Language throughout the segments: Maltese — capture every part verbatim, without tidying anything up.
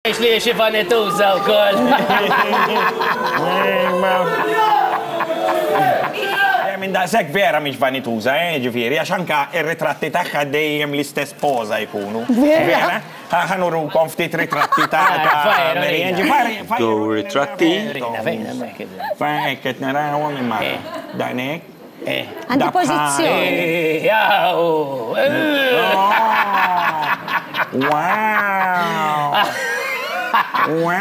Li xi vanituża wkoll. Minn daqshekk vera mhix vanituża, eh, ġifieri, għax anka ir-ritratti tagħha dejjem l-istess poża jkunu. Vera? Ħa nurukom ftit ritratti ta' Do ritratti. Hekk qed narawhom imma dan hekk. Għandi pożizzjoni. Wow! Wow!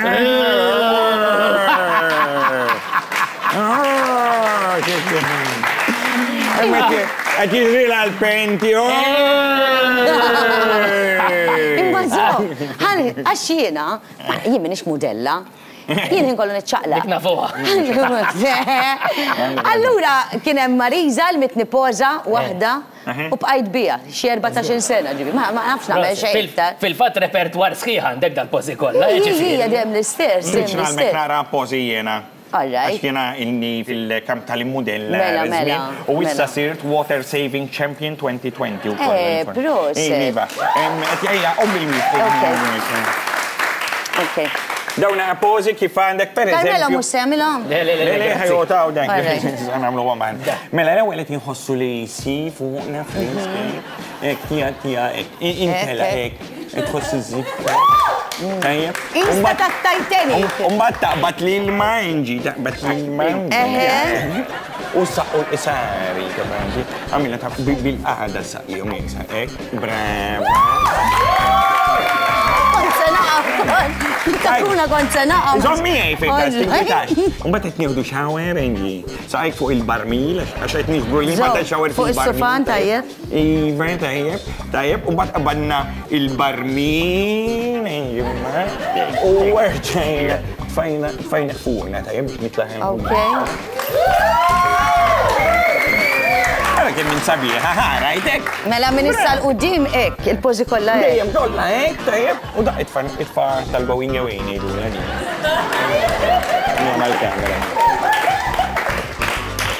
Qed jiġri l-penti. Imma żomm, għax jiena, jien m'iniex mudella. Jien inkollu niċċaqlaq. Dik nafuha. Allura kien hemm Marisa li mitni poża waħda u bqajt biha xi erbatax-il sena ġifieri, ma nafx nagħmel xejn iktar. Fil-fatt repertwar sħiħ għandek dal-pożi kollha. Hija dejjem l-istess. Tridx nagħmel nara pożi jiena. Għax jiena ilni fil-kamp tal-immudella. Mela, mela. U issa sirt Water Saving Champion twenty twenty ukoll. Eh, proset. Iva. Ejja, ommi l-miet. Ok. Dawn pożi kif għandek per eżempju. Carmelo mhux se jagħmilhom? Le, le, le, le, ħajjotaw dan. Nagħmlu għaman. Mela l-ewwel qed inħossu li si fuqna frisk. Hekk tija tija hekk. Intela hekk. Tħoss iż-żib. Tajjeb. Insta tat-Titanic. U mbagħad taqbad l-ilma inġi, taqbad l-ilma. U saqqu l-isari, kapaċi. Għamilha ta' bil-qagħda saqihom hekk. Brava. Kont se naqa'. Takuna kont se naqa'. Żomm miegħi fil-każ tinkwitax. U mbagħad qed nieħdu shower inġi. Saqajk fuq il-barmil għax qed niġbru l-ilma ta' shower fuq is-sufan tajjeb. Iva, tajjeb, tajjeb. U mbagħad qabadna il-barmil inġi u rġajna tfajna tfajna fuqna tajjeb biex nitlaħem. Okay. Ara kemm minn sabiħa, ħa, rajtek? Mela minn issa 'l quddiem hekk, il-pożi kollha hekk. Dejjem kollha hekk, tajjeb. U da itfa' itfa' tal-going away ngħidulha din. Mal-kamera.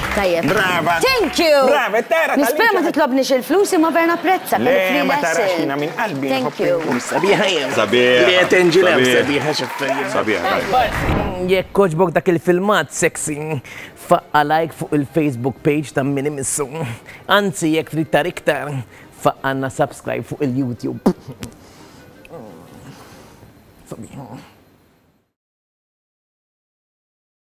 Tajjeb. Brava. Thank you. Brava, tara. Nispera ma titlobniex il-flus imma vera napprezza. Le, ma tarax jiena minn qalbi. Thank you. Sabiħa jem. Sabiħa. Li qed Angela sabiħa x'affarijiet. Sabiħa. Jekk għoġbok dak il-filmat sexy, faqqa like fuq il-Facebook page ta' Min Imissu. Anzi, jekk trid tara iktar, faqqanna subscribe fuq il-YouTube. Sabiħa.